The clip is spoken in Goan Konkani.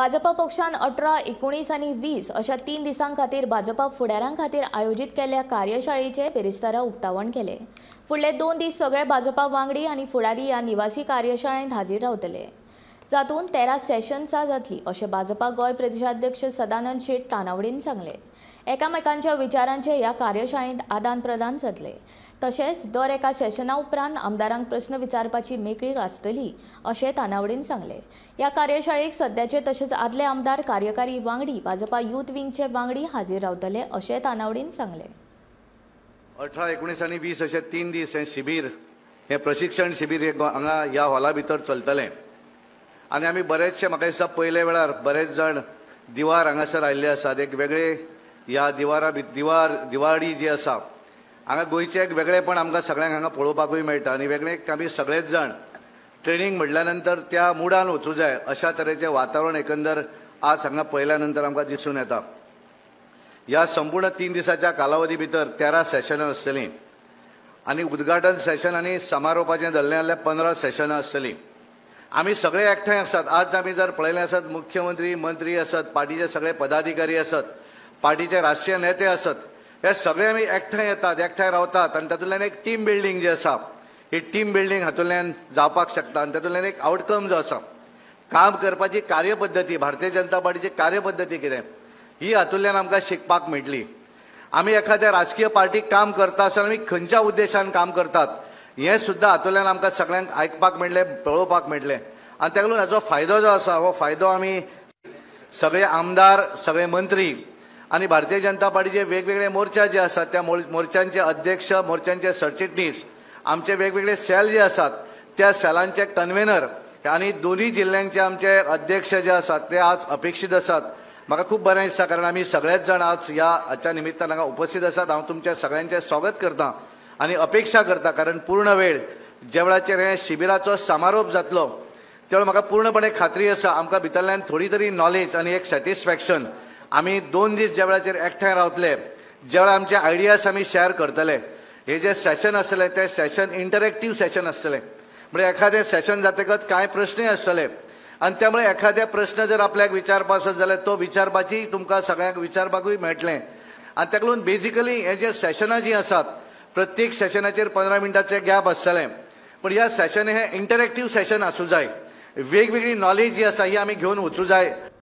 भाजपा पक्षान 18, 19 आनी 20 अशा 3 दिसां खातीर भाजपा फुडाऱ्यां खातीर आयोजीत केल्ल्या कार्यशाळेचे बेरेस्तारा उक्तावण केले। फुडले 2 दीस सगळे भाजपा वांगडी आनी फुडारी ह्या निवासी कार्यशाळेंत हाजीर रावतले, जातूंत 13 सेशन्सां जातली अशें भाजपा गोंय प्रदेशाध्यक्ष सदानंद शेट तानावडीन सांगलें। एकामेकांच्या विचारांचे ह्या कार्यशाळेंत आदान प्रदान जातले, तशेंच दर एका सेशना उपरांत आमदारांक प्रस्न विचारपाची मेकळीक आसतली अशें तानावडीन सांगलें। ह्या कार्यशाळेक सद्याचे तशेंच आदले आमदार, कार्यकारी वांगडी, भाजपा यूथ विंगचे वांगडी हाजीर रावतले अशें तानावडीन सांगलें। 18, 19 आनी 20 अशे 3 दीस हें शिबीर, हें प्रशिक्षण शिबीर हांगा ह्या हॉला भितर चलतलें। आनी आमी बरेचशे, म्हाका दिसता पयले वेळार बरेच जाण दिवार हांगासर आयिल्ले आसात। एक वेगळे ह्या दिवारा दिवार दिवाडी जी आसा हांगा गोंयचें एक वेगळेपण आमकां सगळ्यांक हांगा पळोवपाकूय मेळटा। आनी वेगळें आमी सगळेच जाण ट्रेनींग म्हणल्या नंतर त्या मुडान वचूं जाय अशा तरेचें वातावरण एकंदर आज हांगा पळयल्या नंतर आमकां दिसून येता। ह्या संपूर्ण 3 दिसाच्या कालावधी भितर 13 सेशनां आसतलीं आनी उद्घाटन सेशन आनी समारोपाचें धरलें जाल्यार 15 सेशनां आसतलीं। आमी सगळे एकठांय आसात। आज आमी जर पळयलें आसत, मुख्यमंत्री, मंत्री आसत, पार्टीचे सगळे पदाधिकारी आसत, पार्टीचे राष्ट्रीय नेते आसत, हे सगळे आमी एकठांय येतात, एकठांय रावतात आनी तातूंतल्यान एक टीम बिल्डींग जी आसा ही टीम बिल्डींग हातूंतल्यान जावपाक शकता। आनी तातूंतल्यान एक आवटकम जो आसा, काम करपाची कार्यपद्दती, भारतीय जनता पार्टीची कार्यपद्दती कितें ही हातूंतल्यान आमकां शिकपाक मेळटली। आमी एखाद्या राजकीय पार्टीक काम करता आसतना आमी खंयच्या उद्देशान काम करतात हें सुद्दां हातूंतल्यान आमकां सगळ्यांक आयकपाक मेळटलें, पळोवपाक मेळटलें। आनी ताका लागून हाचो फायदो जो आसा हो फायदो आमी सगळे आमदार, सगळे मंत्री आनी भारतीय जनता पार्टीचे वेगवेगळे मोर्चा जे आसात त्या मोर्चांचे अध्यक्ष, मोर्चांचे सरचिटणीस, आमचे वेगवेगळे सेल जे आसात त्या सेलांचे कन्व्हेनर आनी दोनूय जिल्ल्यांचे आमचे अध्यक्ष जे आसात ते आज अपेक्षीत आसात। म्हाका खूब बरें दिसता कारण आमी सगळेच जाण आज ह्या हाच्या निमित्तान हांगा उपस्थित आसात। हांव तुमच्या सगळ्यांचें स्वागत करता आनी अपेक्षा करता, कारण पूर्ण वेळ ज्या वेळाचेर हे शिबिराचो समारोप जातलो त्या वेळार म्हाका पूर्णपणे खात्री आसा आमकां भितरल्यान थोडी तरी नॉलेज आनी एक सॅटिस्फॅक्शन आमी 2 दीस ज्या वेळाचेर एकठांय रावतले, ज्या वेळार आमचे आयडियाज आमी शेअर करतले, हे जे सेशन आसतले ते सेशन इंटरॅक्टीव सेशन आसतले। म्हणजे एखादें सेशन जातकच कांय प्रश्नय आसतले आनी त्यामुळे एखाद्या प्रश्न जर आपल्याक विचारपा आसत जाल्यार तो विचारपाची तुमकां सगळ्यांक विचारपाकूय मेळटलें। आनी ताका लागून बेजिकली हे जे सेशनां जीं आसात प्रत्येक सेशनाचेर 15 मिनटाचें गॅप आसतलें, पण ह्या सेशन हे इंटरॅक्टीव सेशन आसूं जाय। वेगवेगळी नॉलेज जी आसा ही आमी घेवन वचूं जाय।